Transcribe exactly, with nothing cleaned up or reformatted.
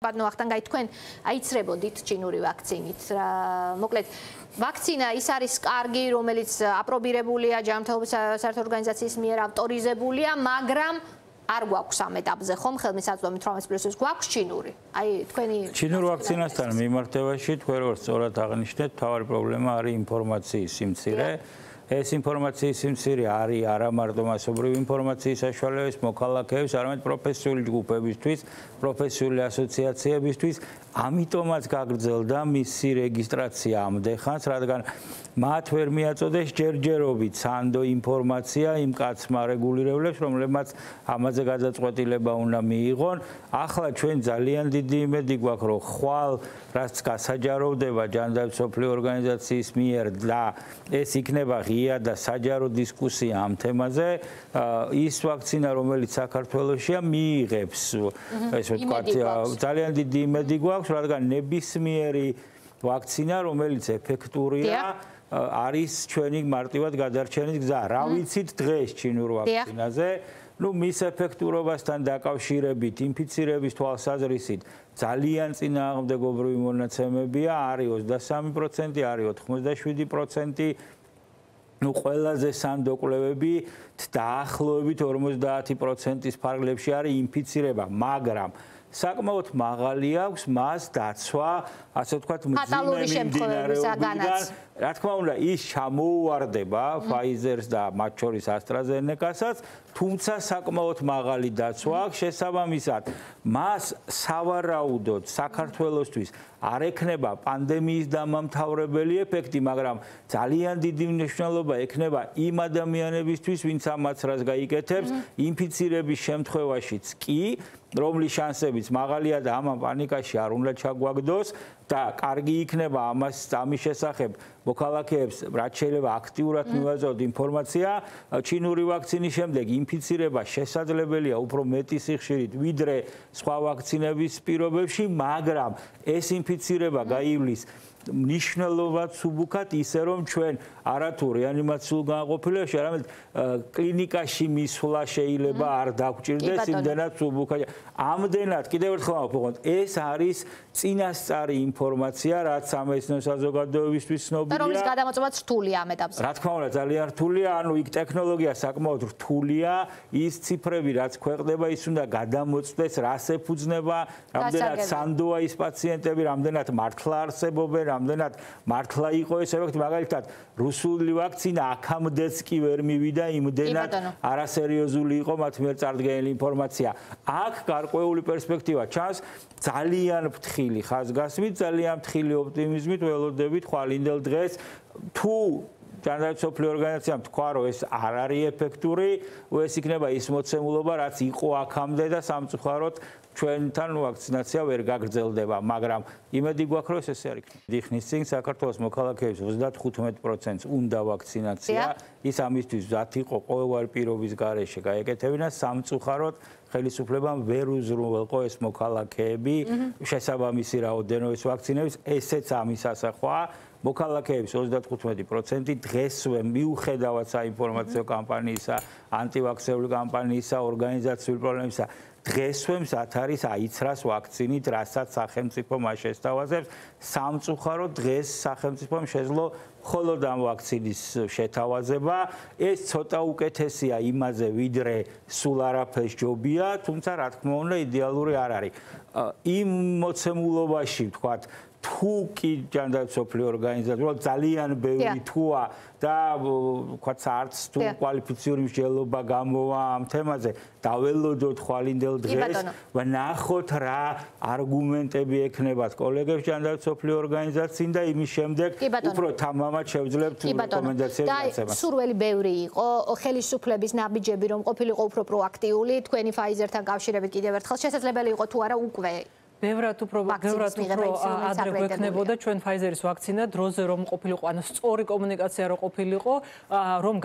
ბატონო ახტანგაი თქვენ აიცრებოდით ჩინური ვაქცინით. მოკლედ ვაქცინა ის არის კარგი, რომელიც აპრობირებულია ჯანმრთელობის საერთო ორგანიზაციის მიერ ავტორიზებულია, მაგრამ არ გვაქვს ამ ეტაპზე ხომ ხელმისაწვდომი თორმეტ პლუსის გვაქვს ჩინური. აი თქვენი ჩინურ ვაქცინასთან მიმართებაში თქვენ როგორც სწორად აღნიშნეთ, მთავარი პრობლემა არის ინფორმაციის სიმცირე. ეს ინფორმაციის სიმცირე არის არა მარტო მასობრივი ინფორმაციის საშუალების მოქალაქეებს, არამედ პროფესიული ჯგუფებისთვის, პროფესიული ასოციაციებისთვის. ამიტომაც გაგრძელდა მისი რეგისტრაცია ამდეხანს, რადგან მათ ვერ მიაწოდეს ჯერჯერობით სანდო ინფორმაცია იმ კაცმა რეგულირებლებს, რომლებმაც ამაზე გადაწყვეტილება უნდა მიიღონ. ახლა ჩვენ ძალიან დიდი იმედი გვაქვს, რომ ხვალ რაც გასაჯაროვდება ჯანდაცვის მსოფლიო ორგანიზაციის მიერ და ეს იქნება ღია და საჯარო დისკუსია ამ თემაზე, ის ვაქცინა, რომელიც საქართველოსია, მიიღებს, ესე ვთქვათ, ძალიან დიდი იმედი გვაქვს, რადგან ნებისმიერი ვაქცინა, რომელიც ეფექტურია, არის ჩვენი მარტივად გადარჩენის გზა. რა ვიცით დღეს ჩინურ ვაქცინაზე? ნუ მის ეფექტურობასთან დაკავშირებით ინფიცირების თვალსაზრისით ძალიან წინააღმდეგობრივი მონაცემებია, არის ოცდასამი პროცენტი, არის ოთხმოცდაშვიდი პროცენტი. ნუ ყველაზე სანდო კვლევები დაახლოებით ორმოცდაათი პროცენტის ფარგლებში არის ინფიცირება, მაგრამ საკმაოდ მაღალი აქვს მას დაცვა, ასე ვთქვათ, მძიმე მიმდინარეობიდან. რა თქმა უნდა, ის ჩამოუვარდება Pfizer-ს და მათ შორის AstraZeneca-საც, თუმცა საკმაოდ მაღალი დაცვა აქვს. შესაბამისად, მას სავარაუდოდ საქართველოსთვის არ ექნება პანდემიის დამამთავრებელი ეფექტი, მაგრამ ძალიან დიდი მნიშვნელობა ექნება იმ ადამიანებისთვის, ვინც ამ მაცრას გაიკეთებს, ინფიცირების შემთხვევაშიც კი, რომლის შანსებიც მაღალია და ამ პანიკაში არ უნდა ჩაგვაგდოს და კარგი იქნება ამას ამის შესახებ მოქალაქეებს რაც შეიძლება აქტიურად მივაწოდოთ ინფორმაცია. ჩინური ვაქცინის შემდეგ ინფიცირება შესაძლებელია უფრო მეტი სიხშირით ვიდრე სხვა ვაქცინების პირობებში, მაგრამ ეს ინფიცირება გაივლის მნიშვნელოვნად სუბუქად ისე რომ ჩვენ არათუ რეანიმაციულ განყოფილებაში, არამედ კლინიკაში მისვლა შეიძლება არ დაგვჭირდეს იმდენად სუბუქად. ამდენად კიდევ ერთხელ ვამბობ, ეს არის წინასწარი ინფორმაცია, რაც სამეცნიერო საზოგადოებისთვის ცნობილია. რომლის გადამოწმებაც რთულია ამ ეტაპზე. რა თქმა უნდა, ძალიან რთულია, ანუ იქ ტექნოლოგია საკმაოდ რთულია, ის ციფრები რაც ქვეყნდება, ის უნდა გადამოწმდეს, რას ეფუძნება, რამდენად სანდოა ის პაციენტები, რამდენად მართლა არსებობენ, რამდენად მართლა იყო ეს ეფექტი, მაგალითად, რუსული ვაქცინა აქამდეც კი ვერ მივიდა, იმდენად არასერიოზული იყო მათ მიერ წარდგენილი ინფორმაცია. აქ გარკვეული პერსპექტივა ჩანს, ძალიან ფრთხილი ხაზგასმით, ძალიან ფრთხილი ოპტიმიზმით ველოდებით ხვალინდელ დღეს, თუ ჯანდაცვის მსოფლიო ორგანიზაციამ თქვა, რომ ეს არ არის ეფექტური, ეს იქნება ის მოცემულობა, რაც იყო აქამდე და სამწუხაროდ ჩვენთან ვაქცინაცია ვერ გაგრძელდება, მაგრამ იმედი გვაქვს, რომ ეს ესე არ იქნება. დიდ წინ საქართველოს მოქალაქეებს ოცდათხუთმეტ პროცენტს უნდა ვაქცინაცია, ის ამისთვის მზად იყო ყოველგვარი პირობის გარეშე გაეკეთებინა, სამწუხაროდ ხელისუფლებამ ვერ უზრუნველყო ეს მოქალაქეები შესაბამისი რაოდენობის ვაქცინების, ესეც ამის ასახვაა. მოქალაქეების ოცდათხუთმეტი პროცენტი დღესვე მიუხედავად საინფორმაციო კამპანიისა, ანტივაქსერული კამპანიისა, ორგანიზაციული პრობლემისა, დღესვე მზად არის აიცრას ვაქცინით, რასაც სახელმწიფო მას შესთავაზებს. სამწუხაროდ დღეს სახელმწიფომ შეძლო მხოლოდ ამ ვაქცინის შეთავაზება. ეს ცოტა უკეთესია იმაზე, ვიდრე სულ არაფერს ჯობია, თუმცა რა თქმა უნდა იდეალური არ არის. იმ მოცემულობაში, ვთქვათ, თუ კი ჯანდაცვის მსოფლიო ორგანიზაცია ძალიან ბევრი თუა და ვთქვათ არც თუ კვალიფიციური მსჯელობა გამოვა ამ თემაზე, დაველოდოთ ხვალინდელ დღეს, ვნახოთ რა არგუმენტები ექნებათ კოლეგებს ჯანდაცვის მსოფლიო ორგანიზაციიდან და იმის შემდეგ უფრო თამამად შევძლებთ რეკომენდაციების გაცემას. და სურველი ბევრი იყო, ხელისუფლების ნაბიჯები რომ ყოფილიყო უფრო პროაქტიული, თქვენი Pfizer-თან კავშირებით კიდევ ერთხელ შესაძლებელი იყო თუ არა უკვე ბევრად უფრო ბევრად უფრო ადრე გვექნებოდა ჩვენ Pfizer-ის ვაქცინა დროზე რომ ყოფილიყო, ანუ სწორი კომუნიკაცია რომ ყოფილიყო, რომ